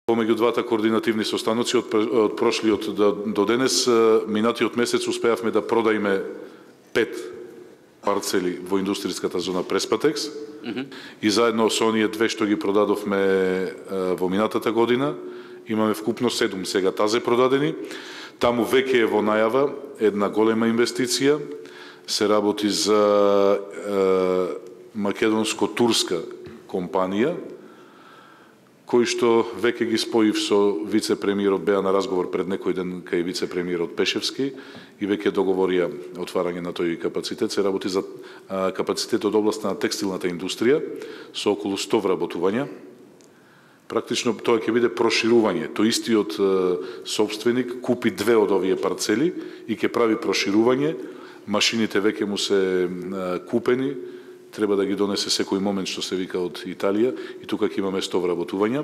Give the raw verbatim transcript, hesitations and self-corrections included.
Помеѓу двата координативни состаноци од, од прошлиот до, до денес, минатиот месец успеавме да продаиме пет парцели во индустријската зона Преспатекс mm -hmm. и заедно со оние две што ги продадовме во минатата година, имаме вкупно седум сега тазе продадени. Таму веќе е во најава една голема инвестиција, се работи за македонско-турска компанија, кој што веќе ги споив со вице-премиерот, беа на разговор пред некој ден кај вице-премиерот Пешевски и веќе договорија отварање на тој капацитет. Се работи за капацитет од областта на текстилната индустрија со околу сто вработувања. Практично тоа ќе биде проширување. Тој истиот собственик купи две од овие парцели и ќе прави проширување. Машините веќе му се купени, треба да ги донесе секој момент, што се вика, од Италија, и тука ќе имаме сто вработувања.